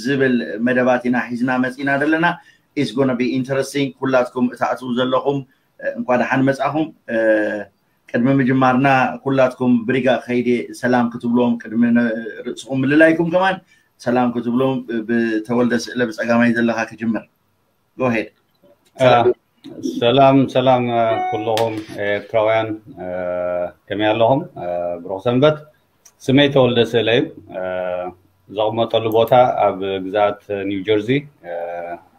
ዝብል መደባት ኢና ሒዝና መፂና ዘለና። It's gonna be interesting። ኩላትኩም እትኣትዉ ዘለኹም እንኳ ደሓን መፃኹም። ቅድሚ ምጅማርና ኩላትኩም ብሪጋ ከይደ ሰላም ክትብሎም ቅድሚ ርእስኹም ምልላይኩም ከማን ሰላም ክትብሎም ብተወልደ ስእለ ብፀጋማይ ዘለካ ክጅምር። Go ahead። ሰላም ሰላም ኩልኹም ኤርትራውያን ከመይ ኣለኹም? ብሩኽ ሰንበት። ስመይ ተወልደ ስእለ እዩ። ዘቕመጠሉ ቦታ ኣብ ግዛት ኒው ጀርዚ፣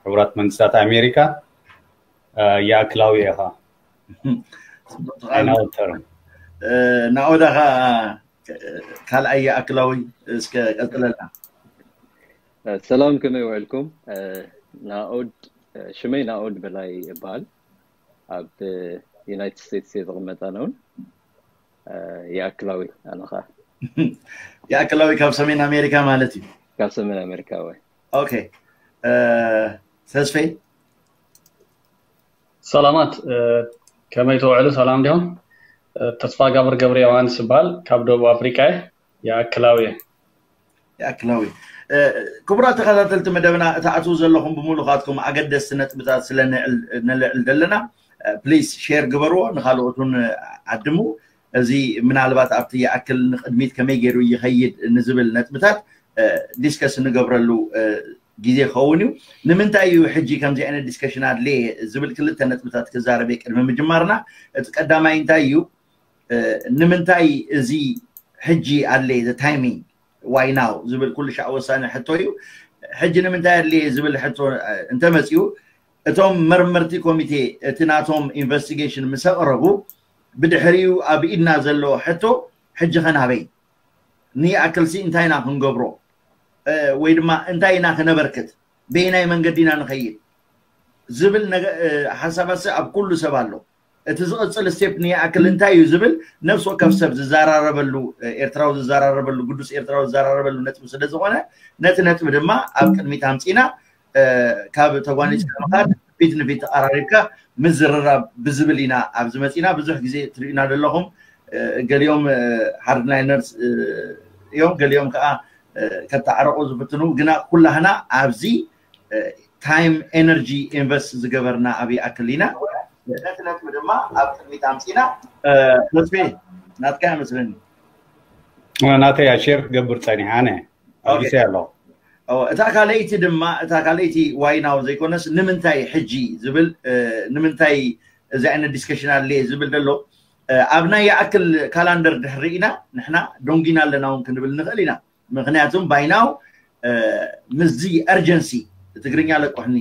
ሕቡራት መንግስታት ኣሜሪካ። ይኣክላዊ ኢኻ። ኣይናወተርም። ናኦዳ ኸ ካልኣይ ይኣክላዊ እስከ ቀጽለልና። ሰላም ከመይ ውዕልኩም? ናኦድ ሽመይ ናኦድ በላይ ይበሃል። ኣብ ዩናይትድ ስቴትስ እየ ዝቕመጥ ኣነ እውን። ይኣክላዊ ኣነ ኸዓ። ይኣክላዊ ካብ ሰሜን ኣሜሪካ ማለት እዩ። ካብ ሰሜን ኣሜሪካ ወይ። ኦኬ። ተስፌ ሰላማት ከመይ ትውዕሉ? ሰላም ዲኹም? ተስፋ ጋብር ገብረ ዮሃንስ ይበሃል። ካብ ደቡብ ኣፍሪቃ እየ። ይኣክላዊ እየ። ይኣክላዊ። ክቡራት ተኸታተልቲ መደብና፣ እትኣትዉ ዘለኹም ብምሉኻትኩም ኣገደስቲ ነጥብታት ስለ ነልዕል ዘለና፣ ፕሊስ ሼር ግበርዎ፣ ንኻልኦት እውን ዓድሙ። እዚ ምናልባት ኣብቲ ይኣክል ንቕድሚት ከመይ ገይሩ ይኸይድ ንዝብል ነጥብታት ዲስከስ እንገብረሉ ግዜ ክኸውን እዩ። ንምንታይ እዩ ሕጂ ከምዚ ዓይነት ዲስከሽን ኣድለየ ዝብል ክልተ ነጥብታት ክዛረብ እየ ቅድሚ ምጅማርና። እቲ ቀዳማይ እንታይ እዩ? ንምንታይ እዚ ሕጂ ኣድለየ፣ the timing why now ዝብል ኩሉ ሻዕ ወሳኒ ሕቶ እዩ። ሕጂ ንምንታይ ኣድለየ ዝብል ሕቶ እንተመፅኡ፣ እቶም መርመርቲ ኮሚቴ እቲ ናቶም ኢንቨስቲጌሽን ምስ ኣቕረቡ፣ ብድሕሪኡ ኣብ ኢድና ዘሎ ሕቶ ሕጂ ኸ ናበይ ንይኣክልሲ እንታይ ኢና ክንገብሮ ወይ ድማ እንታይ ኢና ክነበርክት፣ በየናይ መንገዲ ኢና ንኸይድ ዝብል ሓሳባትሲ ኣብ ኩሉ ሰብ ኣሎ። እቲ ዝቕፅል ስቴፕ ንይኣክል እንታይ እዩ ዝብል ነፍሲ ወከፍ ሰብ ዝዘራረበሉ፣ ኤርትራዊ ዝዘራረበሉ፣ ግዱስ ኤርትራዊ ዝዘራረበሉ ነጥቢ ስለ ዝኾነ፣ ነቲ ነጥቢ ድማ ኣብ ቅድሚት ኣምፂና ካብ ተጓኒፅካ ምኻድ ፊት ንፊት ተቐራሪብካ ምዝርራብ ብዝብል ኢና ኣብዚ መፂና። ብዙሕ ግዜ ትሪኡና ዘለኹም፣ ገሊኦም ሃርድላይነርስ እዮም፣ ገሊኦም ከዓ ከተዓረቑ ዝፍትኑ፣ ግና ኩላህና ኣብዚ ታይም ኤነርጂ ኢንቨስት ዝገበርና ኣብ ይኣክል ኢና። ነቲ ነጥቢ ድማ ኣብ ቅድሚት ኣምፂና። ተስፌ ናትካ መስለኒ። ናተይ ያ ሼር ክገብር ፀኒሓ ኣነ ኣጊሰ ኣለኹ። እታ ካልኣይቲ ድማ፣ እታ ካልኣይቲ ዋይ ናው ዘይኮነስ ንምንታይ ሕጂ ዝብል፣ ንምንታይ እዚ ዓይነት ዲስከሽን ኣድለየ ዝብል ዘሎ፣ ኣብ ናይ ይኣክል ካላንደር ድሕሪ ኢና ንሕና ዶንጊና ኣለና እውን ክንብል ንኽእል ኢና። ምክንያቱም ባይናው ምስዚ እርጀንሲ፣ ትግርኛ ለቆሕኒ፣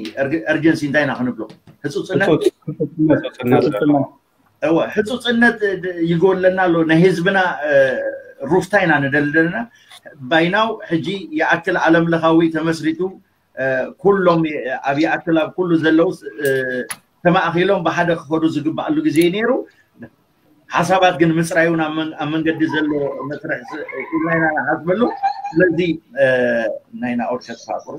እርጀንሲ እንታይ ኢና ክንብሎ? ህፁፅነት። እወ፣ ህፁፅነት ይጎለና ኣሎ። ናይ ህዝብና ሩፍታ ኢና ንደሊ ዘለና። ባይናው ሕጂ ይኣክል ዓለም ለኻዊ ተመስሪቱ፣ ኩሎም ኣብ ይኣክል ኣብ ኩሉ ዘለውስ ተማእኪሎም ብሓደ ክኸዱ ዝግባኣሉ ግዜ ነይሩ። ሓሳባት ግን ምፅራይ እውን ኣብ መንገዲ ዘሎ መስርሕ ኢልና ኢና ንሓስበሉ። ስለዚ ናይ ናኦድ ከጥፋእቁሩ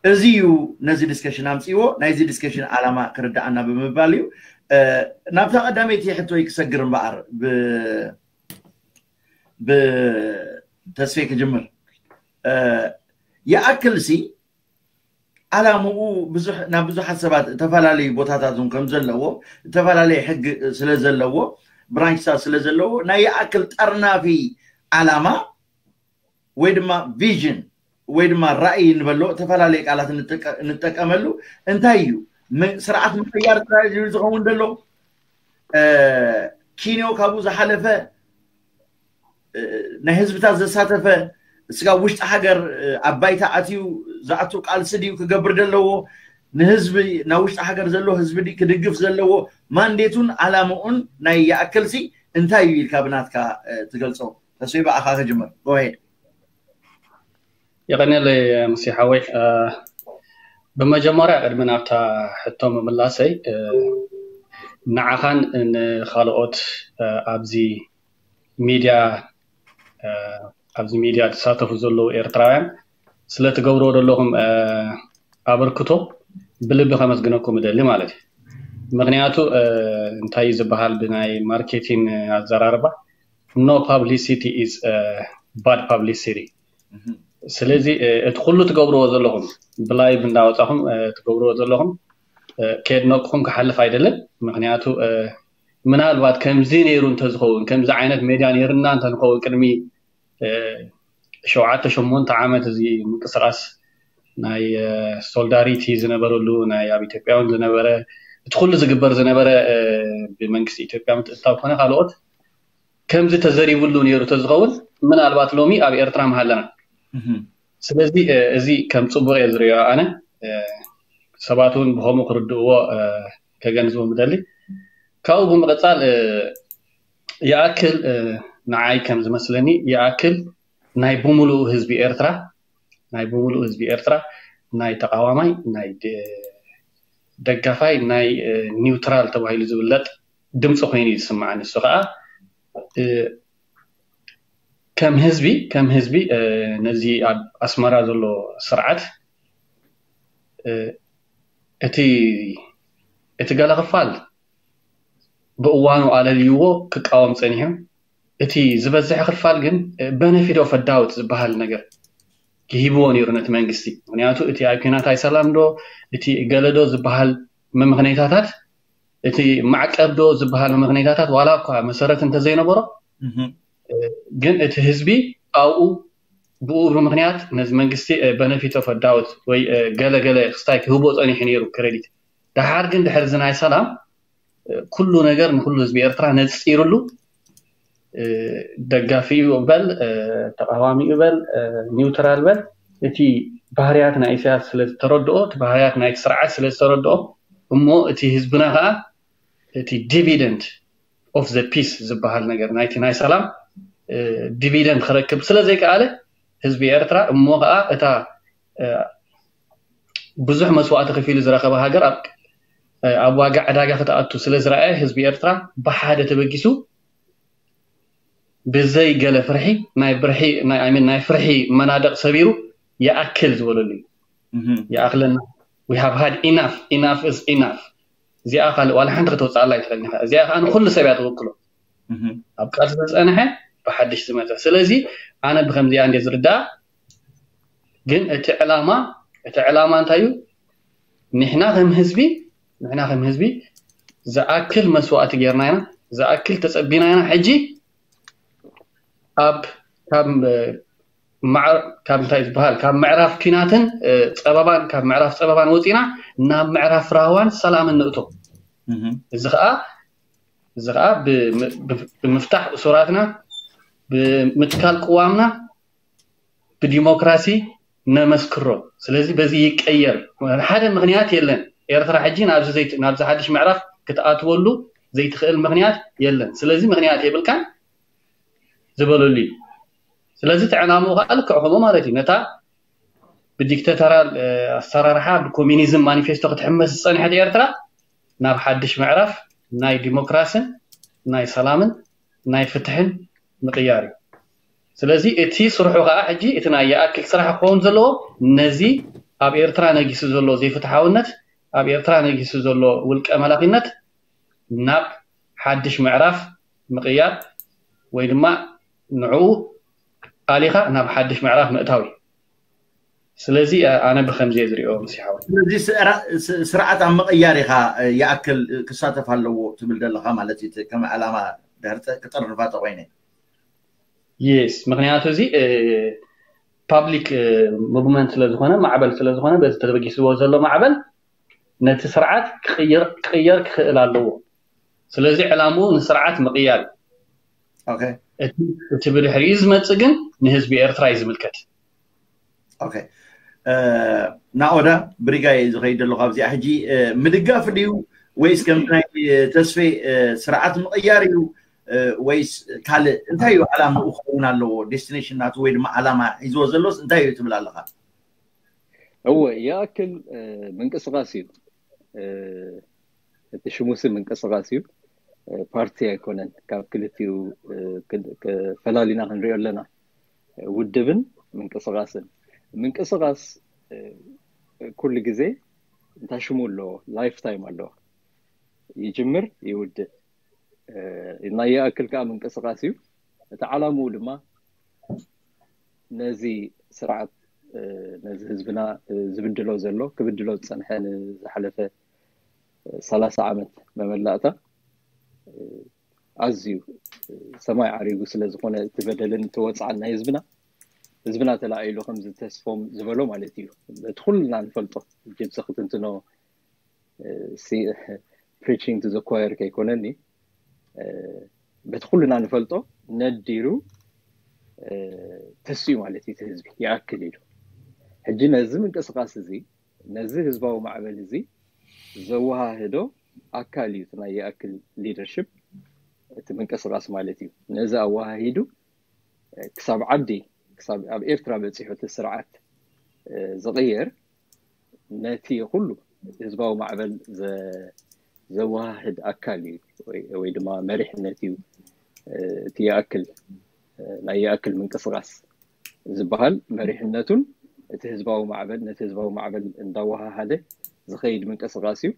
እዚ እዩ ነዚ ዲስከሽን ኣምፅዎ። ናይዚ ዲስከሽን ዓላማ ክርዳኣና ብምባል እዩ። ናብታ ቀዳመይቲ ሕቶይ ክሰግር እምበኣር ብተስፌ ክጅምር። ይኣክል ሲ ዓላምኡ ናብ ብዙሓት ሰባት እተፈላለዩ ቦታታት እውን ከም ዘለዎ፣ እተፈላለየ ሕጊ ስለ ዘለዎ፣ ብራንችታት ስለ ዘለዎ፣ ናይ ይኣክል ጠርናፊ ዓላማ ወይ ድማ ቪዥን ወይ ድማ ራእይ ንበሎ፣ እተፈላለየ ቃላት ንጠቀመሉ። እንታይ እዩ? ስርዓት ምቅያር ጥራይ ዝኸውን ደሎ፣ ኪንዮ ካብኡ ዝሓለፈ ናይ ህዝብታት ዘሳተፈ፣ ስጋብ ውሽጢ ሃገር ኣብ ባይታ ኣትዩ ዝኣቱ ቃልሲ ድዩ ክገብር ዘለዎ? ንህዝቢ ናብ ውሽጢ ሃገር ዘሎ ህዝቢ ድዩ ክድግፍ ዘለዎ? ማንዴቱን ዓላምኡን ናይ ይኣክልሲ እንታይ እዩ ኢልካ ብናትካ ትገልጾ? ተስፋ ብኣኻ ክጅምር። ጎሄድ። የቐንየለይ ሙሴ ሓወይ። ብመጀመርያ ቅድሚ ናብታ ሕቶ ምምላሰይ ንዓኻን ንኻልኦት ኣብዚ ሚድያ ኣብዚ ሚድያ ዝሳተፉ ዘለዉ ኤርትራውያን ስለትገብርዎ ዘለኹም ኣበርክቶ ብልቢ ከመስግነኩም እደሊ ማለት እዩ። ምክንያቱ እንታይ እዩ ዝበሃል ብናይ ማርኬቲንግ ኣዘራርባ፣ no publicity is bad publicity። ስለዚ እቲ ኩሉ ትገብርዎ ዘለኹም ብላይቭ እንዳወፃኹም ትገብርዎ ዘለኹም ከየድነቅኹም ክሓልፍ ኣይደልን። ምክንያቱ ምናልባት ከምዚ ነይሩ እንተዝኸውን፣ ከምዚ ዓይነት ሜድያ ነይርና እንተንኸውን ቅድሚ ሸውዓተ ሸሞንተ ዓመት እዚ ምንቅስቃስ ናይ ሶልዳሪቲ ዝነበረሉ ናይ ኣብ ኢትዮጵያ እውን ዝነበረ እቲ ኩሉ ዝግበር ዝነበረ ብመንግስቲ ኢትዮጵያ ምትእትታው ኮነ ካልኦት ከምዚ ተዘሪብሉ ነይሩ ተዝኸውን ምናልባት ሎሚ ኣብ ኤርትራ ምሃለና። ስለዚ እዚ ከም ፅቡቅ እየ ዝሪኦ ኣነ። ሰባት እውን ብከምኡ ክርድእዎ ከገንዝቦም ምደሊ። ካብኡ ብምቕፃል ይኣክል ንዓይ ከም ዝመስለኒ ይኣክል ናይ ብምሉኡ ህዝቢ ኤርትራ ናይ ብምሉኡ ህዝቢ ኤርትራ ናይ ተቃዋማይ ናይ ደጋፋይ ናይ ኒውትራል ተባሂሉ ዝብለጥ ድምፂ ኮይኑ እዩ ዝስምዓኒ። እሱ ከዓ ከም ህዝቢ ከም ህዝቢ ነዚ ኣብ ኣስመራ ዘሎ ስርዓት እቲ እቲ ገለ ክፋል ብእዋኑ ኣለልይዎ ክቃወም ፀኒሑ። እቲ ዝበዝሐ ክፋል ግን በነፊት ኦፍ ዳውት ዝበሃል ነገር ይሂብዎ ነይሩ ነቲ መንግስቲ። ምክንያቱ እቲ ኣብ ኪናት ኣይሰላም ዶ እቲ ገለዶ ዝበሃል መምክነይታታት እቲ ማዕቀብ ዶ ዝበሃል መምክነይታታት ዋላ እኳ መሰረት እንተዘይነበሮ ግን እቲ ህዝቢ ኣብኡ ብኡ ብምክንያት ነዚ መንግስቲ በነፊት ኦፍ ዳውት ወይ ገለ ገለ ክስታይ ክህቦ ፀኒሑ ነይሩ ክሬዲት። ደሓር ግን ድሕሪ እዚ ናይ ሰላም ኩሉ ነገር ንኩሉ ህዝቢ ኤርትራ ነፂሩሉ ደጋፊኡ በል ተቃዋሚኡ በል ኒውትራል በል እቲ ባህርያት ናይ ኢሳያስ ስለዝተረድኦ እቲ ባህርያት ናይቲ ስርዓት ስለዝተረድኦ እሞ እቲ ህዝብና ከዓ እቲ ዲቪደንድ ኦፍ ዘ ፒስ ዝበሃል ነገር ናይቲ ናይ ሰላም ዲቪደንድ ክረክብ ስለዘይከኣለ ህዝቢ ኤርትራ እሞ ከዓ እታ ብዙሕ መስዋእቲ ከፊሉ ዝረኸበ ሃገር ኣብ ዋጋ ዕዳጋ ክትኣቱ ስለዝረኣየ ህዝቢ ኤርትራ ብሓደ ተበጊሱ ብዘይ ገለ ፍርሒ ናይ ብርሒ ናይ ፍርሒ መናደቕ ሰቢሩ ይኣክል ዝበለሉ እዩ። ይኣክለና we have had enough enough is enough። እዚኣ ካልእ ዋላ ሓንቲ ከተውፅኣላ ኣይትኽእልን ኢኻ። እዚኣ ከዓ ንኩሉ ሰብ እያ ትውክሎ። ኣብ ቃልሲ ዝፀንሐ ብሓድሽ ዝመፀ። ስለዚ ኣነ ብከምዚኣ እንደ ዝርዳእ ግን እቲ ዕላማ እቲ ዕላማ እንታይ እዩ? ንሕና ከም ህዝቢ ንሕና ከም ህዝቢ ዝኣክል መስዋእቲ ጌርና ኢና፣ ዝኣክል ተፀቢና ኢና። ሕጂ ኣብ ካብ ካብ እንታይ ዝበሃል ካብ ምዕራፍ ኪናትን ፀበባን ካብ ምዕራፍ ፀበባን ወፂና ናብ ምዕራፍ ራህዋን ሰላምን ንእቶ። እዚ ከዓ እዚ ከዓ ብምፍታሕ እሱራትና ብምትካል ቅዋምና ብዲሞክራሲ ነመስክሮ። ስለዚ በዚ ይቀየር ሓደ ምክንያት የለን። ኤርትራ ሕጂ ናብዚ ሓድሽ ምዕራፍ ክትኣትወሉ ዘይትኽእል ምክንያት የለን። ስለዚ ምክንያት የብልካን ዝበለሉ እዩ። ስለዚ እቲ ዕላምኡ ከዓ ልክዕ ከምኡ ማለት እዩ። ነታ ብዲክተተራል ኣሰራርሓ ብኮሚኒዝም ማኒፌስቶ ክትሕመስ ዝፀንሐት ኤርትራ ናብ ሓድሽ ምዕራፍ ናይ ዲሞክራስን ናይ ሰላምን ናይ ፍትሕን ምቕያር እዩ። ስለዚ እቲ ስርሑ ከዓ ሕጂ እቲ ናይ ይኣክል ስራሕ ክኸውን ዘለዎ ነዚ ኣብ ኤርትራ ነጊሱ ዘሎ ዘይፍትሓውነት ኣብ ኤርትራ ነጊሱ ዘሎ ውልቀ መላኺነት ናብ ሓድሽ ምዕራፍ ምቕያር ወይ ድማ ንዕኡ ኣሊኻ ናብ ሓድሽ ምዕራፍ ምእታው እዩ። ስለዚ ኣነ ብከምዚ እየ ዝሪኦ ምስ ይሓወ ስለዚ ስርዓት ኣብ ምቕያር ኢኻ ይኣክል ክሳተፍ ኣለዎ ትብል ዘለኻ ማለት እዩ። ከም ዕላማ ድሕር ክጠርንፋ ተኮይነ የስ ምክንያቱ እዚ ፓብሊክ ሙቭመንት ስለዝኮነ ማዕበል ስለዝኮነ በዚ ተበጊስዎ ዘሎ ማዕበል ነቲ ስርዓት ክቅየር ክክእል ኣለዎ። ስለዚ ዕላምኡ ንስርዓት ምቅያር እዩ። እቲ ብድሕሪኡ ዝመፅእ ግን ንህዝቢ ኤርትራ እዩ ዝምልከት። ናኦዳ ብሪጋይ ዝኸይድ ዘለኹ ኣብዚኣ ሕጂ ምድጋፍ ድዩ ወይስ ከምቲ ናይ ተስፌ ስርዓት ምቕያር እዩ ወይስ ካልእ እንታይ እዩ ዓላምኡ ክኸውን ኣለዎ? ዴስቲኔሽን ናቱ ወይ ድማ ዓላማ ሒዝዎ ዘሎስ እንታይ እዩ ትብል ኣለኻ? እወ ይኣክል ምንቅስቃስ እዩ። እቲ ሽሙሲ ምንቅስቃስ እዩ። ፓርቲ ኣይኮነን። ካብ ክልቲኡ ፈላሊና ክንሪኦ ኣለና። ውድብን ምንቅስቃስን። ምንቅስቃስ ኩሉ ግዜ እንታይ ሽሙ ኣለዎ? ላይፍ ታይም ኣለዎ። ይጅምር ይውድእ። ናይ ይኣክል ከዓ ምንቅስቃስ እዩ። እቲ ዓላምኡ ድማ ነዚ ስርዓት ነዚ ህዝብና ዝብድሎ ዘሎ ክብድሎ ዝፀንሐ ንዝሓለፈ ሰላሳ ዓመት መመላእታ ኣዝዩ ሰማይ ዓሪጉ ስለ ዝኾነ እቲ በደልን እቲ ወፅዓን ናይ ህዝብና ህዝብና ተላዒሉ ከምዚ ተስፎም ዝበሎ ማለት እዩ። በቲ ኩልና ንፈልጦ ጅብዚ ክትንትኖ preaching to the choir ከይኮነኒ በቲ ኩልና ንፈልጦ ነዲሩ ተስዩ ማለት እዩ። እቲ ህዝቢ ይኣክል ኢሉ ሕጂ ነዚ ምንቅስቃስ እዚ ነዚ ህዝባዊ ማዕበል እዚ ዘወሃህዶ ኣካል እዩ። እቲ ናይ ይኣክል leadership እቲ ምንቅስቃስ ማለት እዩ። ነዚ ኣወሃሂዱ ክሳብ ዓዲ ክሳብ ኣብ ኤርትራ በፂሑ እቲ ስርዓት ዝቕየር ነቲ ኩሉ ህዝባዊ ማዕበል ዘወሃህድ ኣካል እዩ ወይ ድማ መሪሕነት እዩ። እቲ ይኣክል ናይ ይኣክል ምንቅስቃስ ዝበሃል መሪሕነቱን እቲ ህዝባዊ ማዕበል ነቲ ህዝባዊ ማዕበል እንዳወሃሃደ ዝኸይድ ምንቅስቃስ እዩ።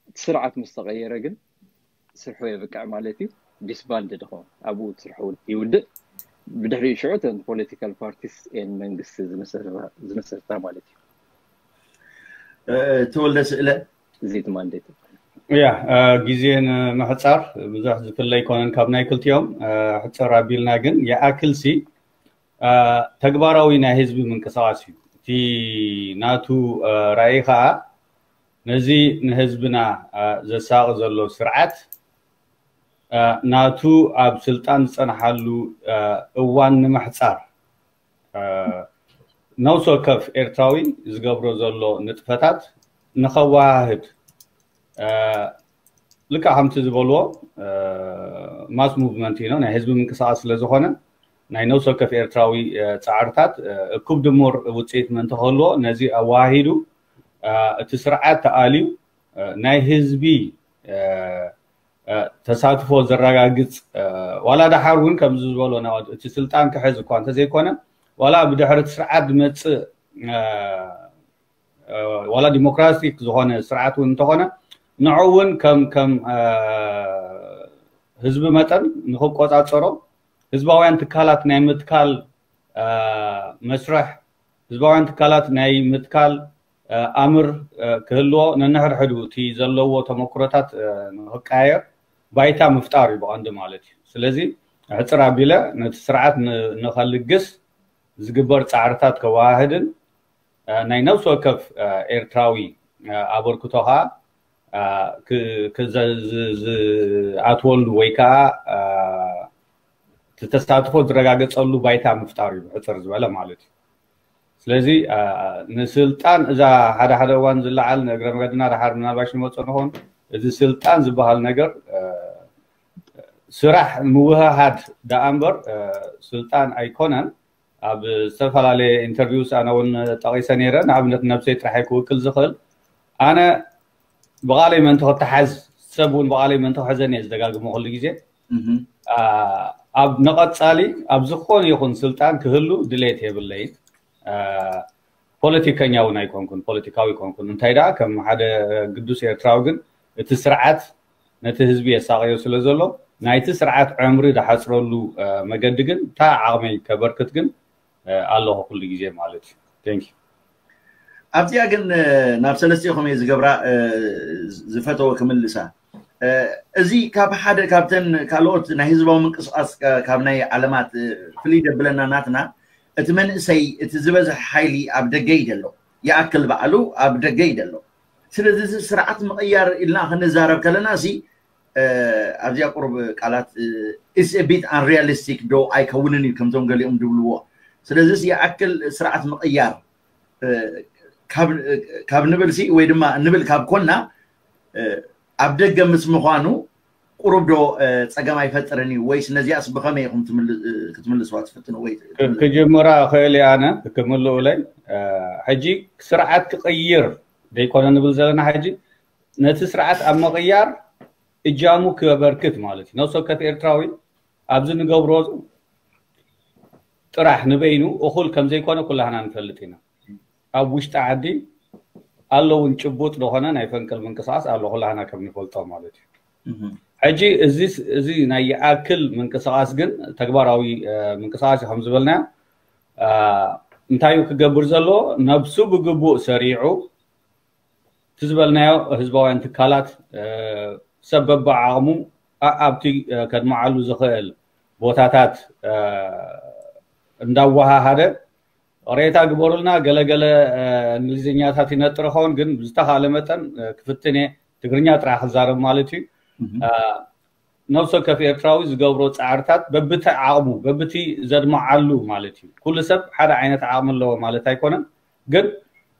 እቲ ስርዓት ምስ ተቐየረ ግን ስርሑ የብቅዕ ማለት እዩ። disbanded ይኸውን ኣብኡ ስርሑ ይውድእ። ብድሕሪኡ ሽዑ እተን political parties and መንግስቲ ዝምስርታ ማለት እዩ። ተወልደ ስእለ እዚት ማንዴት ያ ግዜ ንምሕፃር ብዙሕ ዝፍለ ኣይኮነን ካብ ናይ ክልቲኦም ሕፅር ኣቢልና ግን ይኣክልሲ ተግባራዊ ናይ ህዝቢ ምንቅስቃስ እዩ። እቲ ናቱ ራእይ ከዓ ነዚ ንህዝብና ዘሳቂ ዘሎ ስርዓት ናቱ ኣብ ስልጣን ዝፀንሓሉ እዋን ንምሕፃር ነፍሲ ወከፍ ኤርትራዊ ዝገብሮ ዘሎ ንጥፈታት ንኸወሃህድ ልክዕ ከምቲ ዝበልዎ mass movement እዩ ናይ ህዝቢ ምንቅስቃስ ስለዝኾነ ናይ ነፍሲ ወከፍ ኤርትራዊ ፃዕርታት እኩብ ድሙር ውፅኢት ምእንቲ ክህልዎ ነዚ ኣወሃሂዱ እቲ ስርዓት ተኣልዩ ናይ ህዝቢ ተሳትፎ ዘረጋግፅ ዋላ ደሓር እውን ከምዚ ዝበሎ እቲ ስልጣን ክሕዝ እኳ እንተዘይኮነ ዋላ ብድሕሪ እቲ ስርዓት ዝመፅእ ዋላ ዲሞክራቲክ ዝኾነ ስርዓት እውን እንተኾነ ንዑ እውን ከም ከም ህዝቢ መጠን ንክቆፃፀሮ ህዝባውያን ትካላት ናይ ምትካል መስርሕ ህዝባውያን ትካላት ናይ ምትካል ኣምር ክህልዎ ነንሕድሕዱ እቲ ዘለዎ ተመክሮታት ንክቀያየር ባይታ ምፍጣር እዩ ብቐንዲ ማለት እዩ። ስለዚ ሕፅር ኣቢለ ነቲ ስርዓት ንኸልግስ ዝግበር ፃዕርታት ከወሃህድን ናይ ነፍሲ ወከፍ ኤርትራዊ ኣበርክቶ ከዓ ዝኣትወሉ ወይ ከዓ ተሳትፎ ዝረጋገፀሉ ባይታ ምፍጣር እዩ ሕፅር ዝበለ ማለት እዩ። ስለዚ ንስልጣን እዛ ሓደ ሓደ እዋን ዝለዓል ንእግረ መገድና ደሓር ምናልባሽ ንመፅኦ ንኸውን እዚ ስልጣን ዝበሃል ነገር ስራሕ ምውህሃድ ደኣ እምበር ስልጣን ኣይኮነን። ኣብ ዝተፈላለየ interviews ኣነ እውን ጠቒሰ ነይረ። ንኣብነት ነብሰይ ጥራሕ ክውክል ዝኽእል ኣነ ብቓለይ ምእንቲ ክተሓዝ ሰብ እውን ብቓለይ ምእንቲ ክሕዘኒ እየ ዝደጋግሞ ኩሉ ግዜ ኣብ ንቐፃሊ ኣብ ዝኾነ ይኹን ስልጣን ክህሉ ድሌት የብለይን። ፖለቲከኛ እውን ኣይኮንኩን፣ ፖለቲካዊ ኣይኮንኩን። እንታይ ደኣ ከም ሓደ ግዱስ ኤርትራዊ ግን እቲ ስርዓት ነቲ ህዝቢ የሳቐዮ ስለ ዘሎ ናይቲ ስርዓት ዕምሪ ዝሓፅረሉ መገዲ ግን እታ ዓቕመይ ከበርክት ግን ኣለኹ ኩሉ ግዜ ማለት እዩ። Thank you። ኣብዚኣ ግን ናብ ሰለስቲኹም እየ ዝገብራ ዝፈተወ ክምልሳ። እዚ ካብ ሓደ ካብተን ካልኦት ናይ ህዝባዊ ምንቅስቃስ ካብ ናይ ዓለማት ፍልይ ደብለና ናትና እቲ መንእሰይ እቲ ዝበዝሕ ሓይሊ ኣብ ደገ እዩ ዘሎ። ይኣክል በዓሉ ኣብ ደገ እዩ ዘሎ። ስለዚ እዚ ስርዓት ምቕያር ኢልና ክንዛረብ ከለና እዚ ኣብዚኣ ቁሩብ ቃላት is a bit unrealistic ዶ ኣይከውንን እዩ ከምቶም ገሊኦም ዝብልዎ። ስለዚ ይኣክል ስርዓት ምቕያር ካብ ንብል ሲ ወይ ድማ ንብል ካብ ኮና ኣብ ደገ ምስ ምዃኑ ቁሩብ ዶ ፀገም ኣይፈጥርን እዩ ወይስ ነዚኣስ ብኸመይ ኢኹም ክትምልስዋ ትፍትኑ ወይ ክጅምራ እኽእል እየ ኣነ ክምልኡለይ ሕጂ ስርዓት ክቕይር ዘይኮነ ንብል ዘለና ሕጂ ነቲ ስርዓት ኣብ ምቕያር እጃሙ ክበርክት ማለት እዩ። ነፍሲ ወከፍ ኤርትራዊ ኣብዚ ንገብሮ ጥራሕ ንበይኑ እኹል ከም ዘይኮነ ኩላህና ንፈልጥ ኢና። ኣብ ውሽጢ ዓዲ ኣለውን ጭቡጥ ዝኾነ ናይ ፈንቅል ምንቅስቃስ ኣሎ ኩላህና ከም ንፈልጦ ማለት እዩ። ሕጂ እዚ ናይ ይኣክል ምንቅስቃስ ግን ተግባራዊ ምንቅስቃስ እዩ ከም ዝበልናዮ እንታይ እዩ ክገብር ዘለዎ? ነብሱ ብግቡእ ሰሪዑ፣ እቲ ዝበልናዮ ህዝባውያን ትካላት ሰብ በብዓቕሙ ኣብቲ ከድምዓሉ ዝኽእል ቦታታት እንዳወሃሃደ፣ ሬታ ግበሩልና፣ ገለገለ እንግሊዝኛታት ይነጥር ኸውን፣ ግን ብዝተኻለ መጠን ክፍትን እየ። ትግርኛ ጥራሕ ክዛረብ ማለት እዩ። ነብሲ ወከፍ ኤርትራዊ ዝገብሮ ፃዕርታት በብቲ ዓቕሙ፣ በብቲ ዘድምዓሉ ማለት እዩ። ኩሉ ሰብ ሓደ ዓይነት ዓቕሚ ኣለዎ ማለት ኣይኮነን። ግን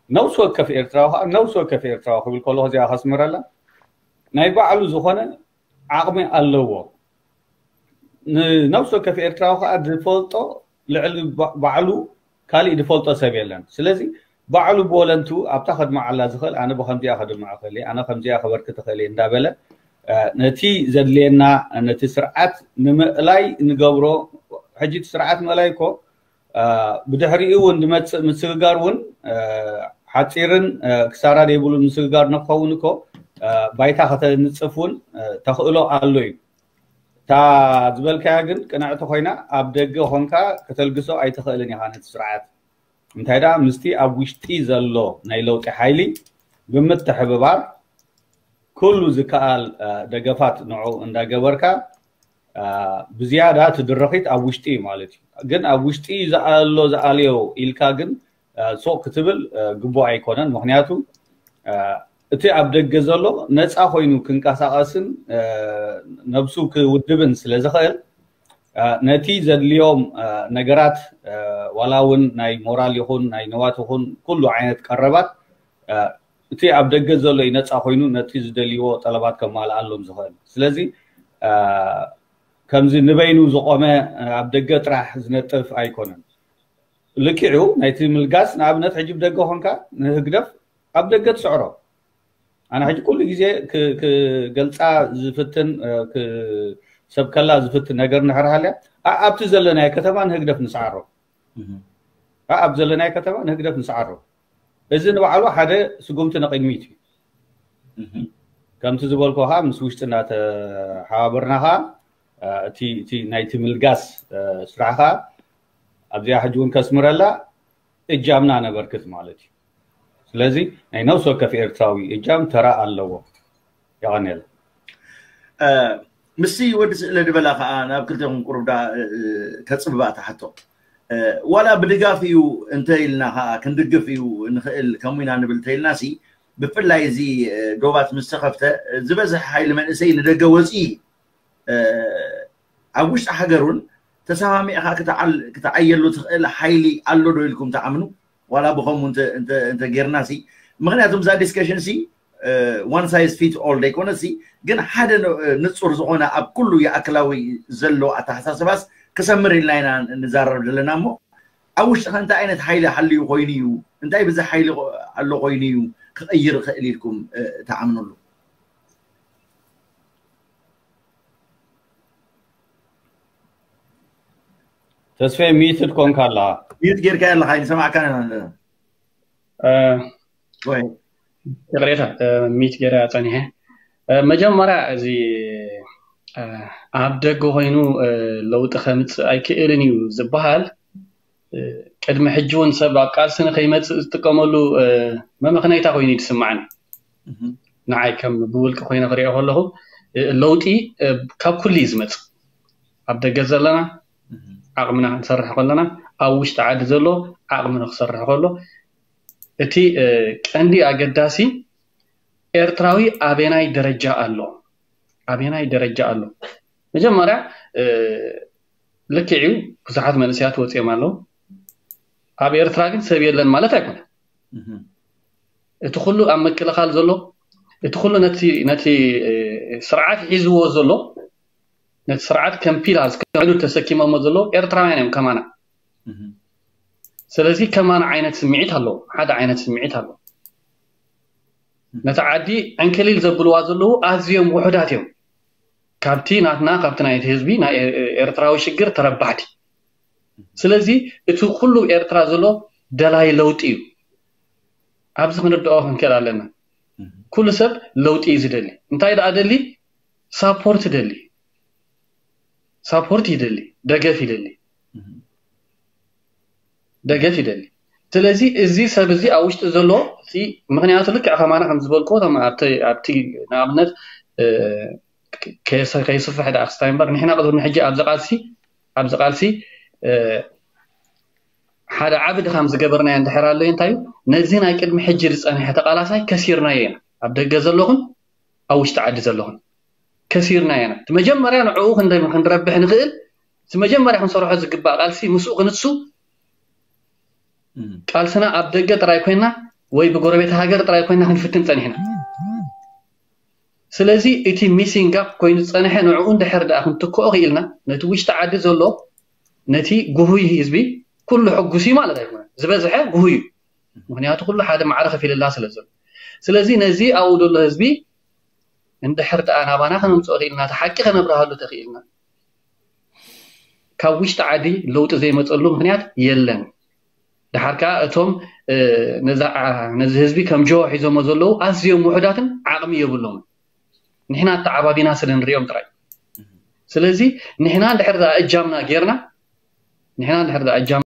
ነብሲ ወከፍ ኤርትራዊ ከዓ፣ ነብሲ ወከፍ ኤርትራዊ ክብል ከለኹ እዚኣ ከስምረላ፣ ናይ ባዕሉ ዝኾነ ዓቕሚ ኣለዎ። ንነብሲ ወከፍ ኤርትራዊ ከዓ ዝፈልጦ ልዕሊ ባዕሉ ካሊእ ዝፈልጦ ሰብ የለን። ስለዚ ባዕሉ ብወለንቱ ኣብታ ከድምዓላ ዝኽእል፣ ኣነ ብከምዚኣ ከድምዖ እኽእል እየ፣ ኣነ ከምዚኣ ከበርክት እኽእል እየ እንዳበለ ነቲ ዘድልየና፣ ነቲ ስርዓት ንምእላይ ንገብሮ። ሕጂ እቲ ስርዓት ምእላይ እኮ ብድሕሪኡ እውን ዝመፅእ ምስግጋር እውን ሓፂርን ክሳራ ዘይብሉን ምስግጋር ንክኸውን እኮ ባይታ ከተንፅፍ እውን ተኽእሎ ኣሎ እዩ። እታ ዝበልካያ ግን ቅንዕቲ ኮይና፣ ኣብ ደገ ኾንካ ከተልግሶ ኣይትኽእልን ኢኻ ነቲ ስርዓት። እንታይ ደኣ ምስቲ ኣብ ውሽጢ ዘሎ ናይ ለውጢ ሓይሊ ብምትሕብባር፣ ኩሉ ዝከኣል ደገፋት ንዑ እንዳገበርካ፣ ብዝያዳ እቲ ድርኺት ኣብ ውሽጢ እዩ ማለት እዩ። ግን ኣብ ውሽጢ ዝኣሎ ዝኣልዮ ኢልካ ግን ሱቕ ክትብል ግቡእ ኣይኮነን። ምኽንያቱ እቲ ኣብ ደገ ዘሎ ነፃ ኮይኑ ክንቀሳቐስን ነብሱ ክውድብን ስለ ዝኽእል፣ ነቲ ዘድልዮም ነገራት፣ ዋላ እውን ናይ ሞራል ይኹን ናይ ንዋት ይኹን ኩሉ ዓይነት ቀረባት፣ እቲ ኣብ ደገ ዘሎ እዩ ነፃ ኮይኑ ነቲ ዝደልይዎ ጠለባት ከማልኣሎም ዝኽእል። ስለዚ ከምዚ ንበይኑ ዝቆመ፣ ኣብ ደገ ጥራሕ ዝነጥፍ ኣይኮነን። ልክዑ ናይቲ ምልጋስ፣ ንኣብነት ሕጂ ብደገ ኮንካ ንህግደፍ ኣብ ደገ ትስዕሮ። ኣነ ሕጂ ኩሉ ግዜ ክገልፃ ዝፍትን፣ ሰብ ከላ ዝፍትን ነገር እንድሕር ሃልያ፣ ኣብቲ ዘለናዮ ከተማ ንህግደፍ ንስዓሮ። ኣብ ዘለናዮ ከተማ ንህግደፍ ንስዓሮ። እዚ ንባዕሉ ሓደ ስጉምቲ ንቕድሚት እዩ። ከምቲ ዝበልኩ ከዓ ምስ ውሽጢ እናተሓባበርና ከዓ እቲ ናይቲ ምልጋስ ስራሕ ከዓ ኣብዚኣ ሕጂ እውን ከስምረላ እጃምና ነበርክት ማለት እዩ። ስለዚ ናይ ነብሲ ወከፍ ኤርትራዊ እጃም ተራ ኣለዎ። የቐንየልና። ምስቲ ወዲ ስእለ ዝበላ ከዓ ናብ ክልቴኹም ቁሩብ ዳ ከፅብባ ትሓቶ። ዋላ ብድጋፍ እዩ እንተ ኢልና ከዓ ክንድግፍ እዩ ንኽእል ከምኡ ኢና ንብል እንተ ኢልና ሲ፣ ብፍላይ እዚ ዶባት ምስ ተኸፍተ ዝበዝሕ ሓይሊ መንእሰይ ንደገ ወፂኡ እዩ። ኣብ ውሽጢ ሃገር እውን ተሰማሚዕካ ክትዓየሉ ትኽእል ሓይሊ ኣሎ ዶ ኢልኩም ትኣምኑ? ዋላ ብኸምኡ እንተ ጌርና ሲ፣ ምኽንያቱም እዛ ዲስከሽን ሲ one size fit all ደይኮነ ሲ፣ ግን ሓደ ንፁር ዝኾነ ኣብ ኩሉ ይኣክላዊ ዘሎ ኣተሓሳስባስ ክሰምር ኢልና ኢና ንዛረብ ዘለና። እሞ ኣብ ውሽጥኸ እንታይ ዓይነት ሓይሊ ሃልዩ ኮይኑ እዩ፣ እንታይ ብዚ ሓይሊ ኣሎ ኮይኑ እዩ ክቕይር ይኽእል ኢልኩም ትኣምንሉ? ተስፋ ሚትድ ኮንካ ኣላ። ሚት ጌርካ ኣለካ ይሰማዕካ። ይቕሬታ፣ ሚት ጌራ ፀኒሐ። መጀመርያ እዚ ኣብ ደገ ኮይኑ ለውጢ ከምፅእ ኣይክእልን እዩ ዝበሃል ቅድሚ ሕጂ እውን ሰብ ኣብ ቃልሲ ንከይመፅእ ዝጥቀመሉ መመኽነይታ ኮይኑ ይስማዓኒ። ንዓይ ከም ብውልቂ ኮይነ ክሪኦ ከለኹ ለውጢ ካብ ኩሉ እዩ ዝመፅእ። ኣብ ደገ ዘለና ዓቕምና ክንሰርሕ ከለና፣ ኣብ ውሽጢ ዓዲ ዘሎ ዓቕሚ ንክሰርሕ ከሎ፣ እቲ ቀንዲ ኣገዳሲ ኤርትራዊ ኣበናይ ደረጃ ኣሎ፣ ኣበናይ ደረጃ ኣሎ። መጀመርያ ልክዕ እዩ፣ ብዙሓት መንእሰያት ወፂኦም ኣለዉ። ኣብ ኤርትራ ግን ሰብ የለን ማለት ኣይኮነን። እቲ ኩሉ ኣብ ምክልኻል ዘሎ፣ እቲ ኩሉ ነቲ ነቲ ስርዓት ሒዝዎ ዘሎ፣ ነቲ ስርዓት ከም ፒላርስ ከም ዕዱድ ተሰኪሞሞ ዘለዉ ኤርትራውያን እዮም ከማና። ስለዚ ከማና ዓይነት ስምዒት ኣለዎ፣ ሓደ ዓይነት ስምዒት ኣለዎ። ነቲ ዓዲ ዕንክሊል ዘብልዋ ዘለዉ ኣዝዮም ውሑዳት እዮም። ካብቲ ናትና፣ ካብቲ ናይቲ ህዝቢ ናይ ኤርትራዊ ሽግር ተረባሕቲ። ስለዚ እቲ ኩሉ ኤርትራ ዘሎ ደላይ ለውጢ እዩ። ኣብዚ ክንርድኦ ክንክእል ኣለና። ኩሉ ሰብ ለውጢ እዩ ዝደሊ። እንታይ ደኣ ደሊ? ሳፖርት ደሊ፣ ሳፖርት ይደሊ፣ ደገፍ ይደሊ። ደገፍ ይደሊ። ስለዚ እዚ ሰብ እዚ ኣብ ውሽጢ ዘሎ እቲ ምክንያቱ ልክዕ ከማና ከም ዝበልክዎ እቶም ኣብቲ ኣብቲ ንኣብነት እ፣ ከይሰ- ከይስፍሕ ደኣ ክስታይ እምበር ንሕና ቅድሚ ሕጂ ኣብዚ ቃልሲ ኣብዚ ቃልሲ እ፣ ሓደ ዓቢ ድኻም ዝገበርናዮ እንድሕር ኣሎ እንታይ እዩ? ነዚ ናይ ቅድሚ ሕጂ ዝጸንሐ ተቃላሳይ ከሲርናዮ ኢና። ኣብ ደገ ዘለኹን ኣብ ውሽጢ ዓዲ ዘለኹን ከሲርናዮ ኢና። እቲ መጀመርያ ንዕኡ ክንደ- ክንረብሕ ንኽእል እቲ መጀመርያ ክንሰርሖ ዝግባእ ቃልሲ ምስኡ ክንሱ ቃልስና ኣብ ደገ ጥራይ ኮይና ወይ ብጎረቤት ሃገር ጥራይ ኮይና ክንፍትን ጸኒሕና። ስለዚ እቲ ሚሲንግ ጋፕ ኮይኑ ዝጸንሐ ንዕኡ እንድሕር ደኣ ክንትክኦ ክኢልና ነቲ ውሽጢ ዓዲ ዘሎ ነቲ ጉሁይ ህዝቢ ኩሉ ሕጉስ እዩ ማለት ኣይኮነን። ዝበዝሐ ጉሁይ እዩ። ምክንያቱ ኩሉ ሓደ ማዕረ ከፊልላ ስለ ዘሎ። ስለዚ ነዚ ኣብኡ ዘሎ ህዝቢ እንድሕር ደኣ ናባና ከነምፅኦ ክኢልና፣ እቲ ሓቂ ከነብርሃሉ ተኽኢልና፣ ካብ ውሽጢ ዓዲ ለውጢ ዘይመፀሉ ምክንያት የለን። ድሓር ከዓ እቶም እ፣ ነዛ ዓ- ነዚ ህዝቢ ከም ጆ ሒዞሞ ዘለዉ ኣዝዮም ውሑዳትን ዓቕሚ የብሎምን። ንሕና ኣተዓባቢና ስለ ንሪኦም ጥራይ። ስለዚ ንሕና እንድሕር ደኣ እጃምና ጌርና ንሕና እንድሕር ደኣ እጃም